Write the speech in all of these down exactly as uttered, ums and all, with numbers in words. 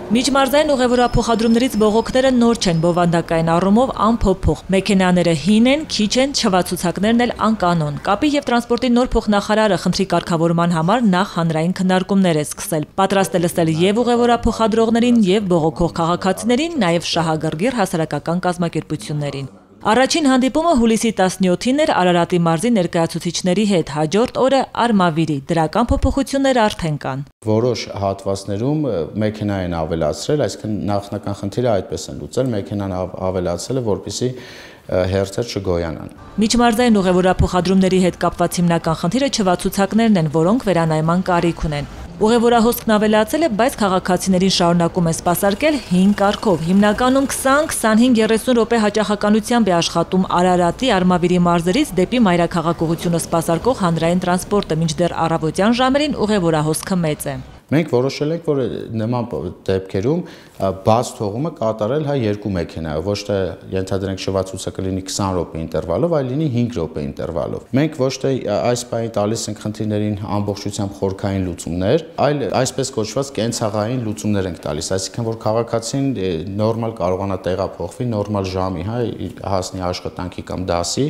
Միջմարզային ուղևորափոխադրումներից բողոքները նոր չեն, բովանդակային առումով անփոփոխ։ Մեքենաները հին են, քիչ են, չվացուցակներն էլ անկանոն։ Կապի եւ տրանսպորտի նոր փոխնախարարը խնդրի կարգավորման համար նախ հանրային քննարկումներ է սկսել։ Պատրաստ է լսել եւ ուղևորափոխադրողներին, եւ բողոքող քաղաքացիներին, նաեւ շահագրգիռ հասարակական կազմակերպություններին։ Առաջին հանդիպումը հուլիսի տասնյոթին էր Արարատի մարզի ներկայացուցիչների հետ, հաջորդ օրը Արմավիրի, դրական փոփոխություններ արդեն կան։ Որոշ հատվածներում մեքենա են ավելացրել, այսինքն նախնական խնդիրը այդպես են լուծել, մեքենան ավելացել է, որպեսզի հերթեր չգոյանան։ Միջմարզային ուղևորափոխադրումների հետ կապված հիմնական խնդիրը չվացուցակներն են, որոնք վերանայման կարիք ունեն։ Ուղևորահոսքն ավելացել է, բայց քաղաքացիներին շարունակում է սպասարկել հին կարգով։ Հիմնականում քսան, քսանհինգ, երեսուն րոպե հաճախականությամբ է աշխատում Արարատի, Արմավիրի մարզերից դեպի մայրաքաղաքողությունը սպասարկող հանրային տրանսպորտը, մինչդեռ առավոտյան ժամերին ուղևորահոսքը մեծ է։ Մենք որոշել ենք, որ նման դեպքերում բաց թողումը կատարել հա երկու մեքենայով, ոչ թե ենթադրենք շվացուցակը լինի քսան րոպե ինտերվալով, այլ լինի հինգ րոպե ինտերվալով։ Մենք ոչ թե այս պահին տալիս ենք խնդիրներին ամբողջությամբ խորքային լուծումներ, այլ այսպես կոչված կենցաղային լուծումներ ենք տալիս, այսինքն որ քաղաքացին նորմալ կարողանա տեղափոխվի, նորմալ ժամի, հա, հասնի աշխատանքի կամ դասի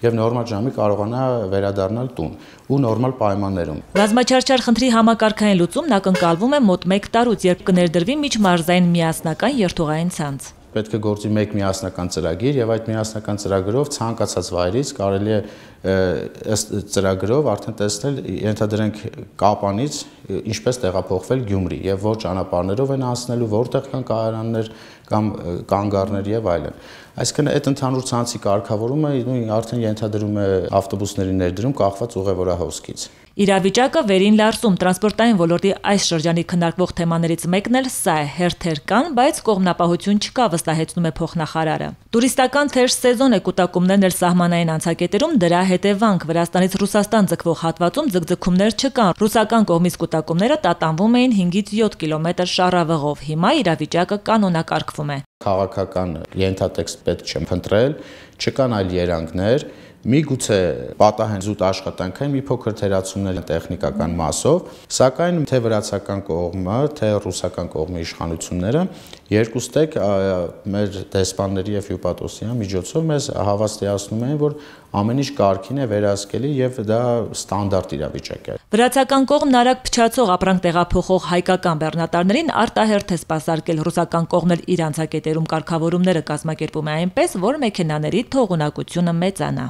եւ նորմալ ժամի կարողանա վերադառնալ տուն ու նորմալ պայմաններում։ Ռազմաչարչար խնդրի համակարգային լուծումն ակնկալվում է մոտ մեկ տարուց, երբ կներդրվի միջմարզային միասնական երթուղային ցանց։ Պետք է գործի մեկ միասնական ծրագիր եւ այդ միասնական ծրագրով ցանկացած վայրից կարելի է ըստ ծրագրով արդեն տեսնել, ենթադրենք Կապանից ինչպես տեղափոխվել Գյումրի եւ որ ճանապարհներով են անցնելու, որտեղ կան կայարաններ կամ կանգառներ եւ այլն։ Այսինքն այդ ընդհանուր ցանցի կարգավորումը արդեն ենթադրում է ավտոբուսների ներդրում կախված ուղևորահոսքից։ Իրավիճակը վերին լարսում, տրանսպորտային ոլորտի այս շրջանի քննարկվող թեմաներից մեկն էլ սա է, հերթեր կան, բայց կողմնապահություն չկա, վստահեցնում է փոխնախարարը։ Տուրիստական թեժ սեզոն է, կուտակումներն էլ սահմանային անցակետերում դրա հետևանք, Վրաստանից Ռուսաստան ձգվող հատվածում ձգձգումներ չկան, ռուսական կողմից կուտակումները տատանվում էին հինգից յոթ կիլոմետր շառավղով, հիմա իրավիճակը կանոնակարգվում է։ Քաղաքական ենթատեքստ պետք չէ փնտրել, չկան այլ երանգներ, միգուցե պատահեն զուտ աշխատանքային մի փոքր թերացումներ տեխնիկական մասով, սակայն թե վրացական կողմը, թե ռուսական կողմի իշխանությունները երկուստեք մեր դեսպանների եւ հյուպատոսի միջոցով մեզ հավաստիացնում են, որ ամեն ինչ կարգին է, վերահսկելի եւ դա ստանդարտ իրավիճակ է։ Վրացական կողմն արագ փչացող ապրանք տեղափոխող հայկական բեռնատարներին արտահերթ է սպասարկել, ռուսական կողմն էլ իր անցակետերում կարգավորումները կազմակերպում է այնպես, որ մեքենաների թողունակությունը մեծանա։